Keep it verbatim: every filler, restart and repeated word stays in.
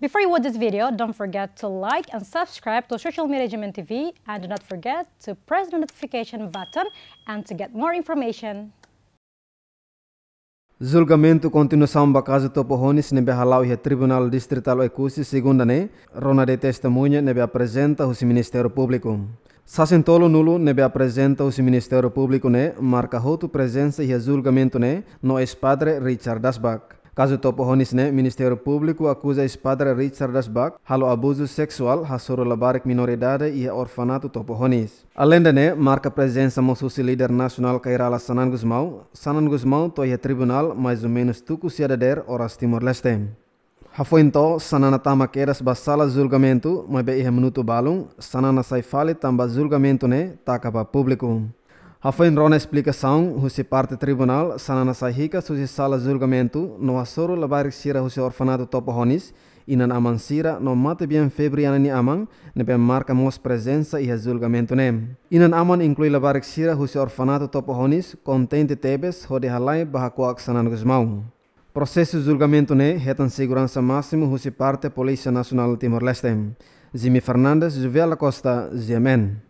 Before you watch this video, don't forget to like and subscribe to Social Media G M N T V, and do not forget to press the notification button and to get more information. Julgamentu kontinuasaun ba kazu Topo Honis ne'ebé hala'o iha Tribunál Distritál Oekusi, segunda ne'e, rona de'it testemuña ne'ebé aprezenta husi Ministériu Públiku. Sasin tolu-nulu ne'ebé aprezenta husi Ministériu Públiku ne'e marka hotu prezensa iha julgamentu ne'e no eis-padre Richard Dasbach. Kazu Topo Honis ne'e, Ministériu Públiku akuza eis-padre Richard Dasbach halo abuzu seksuál hasoru labarik minoridade iha orfanatu Topo Honis. Aleinde ne'e, marka prezensa mós husi líder nasionál Kay Rala Xanana Gusmão, Xanana Gusmão to'o iha tribunál mais ou menus tuku sia dadeer oras Timor-Leste. Hafoin to'o, Xanana tama kedas ba sala julgamentu, maibé iha minutu balun, Xanana sai fali tanba julgamentu ne'e taka ba públiku. Hafoin rona esplikasaun husi parte tribunál, Xanana sai hikas husi sala julgamentu no hasoru labarik sira husi orfanatu Topo Honis, inan-aman sira no matebian Febriana nia aman, ne'ebé marka mós prezensa iha julgamentu ne'e. Inan-aman inklui labarik sira husi orfanatu Topo Honis kontente tebes hodi halai ba hakuak Xanana Gusmão. Prosesu julgamentu ne'e hetan seguransa másimu husi parte Polísia Nasionál Timor-Leste. Jimmy Fernandes, Juviala Costa, G M N.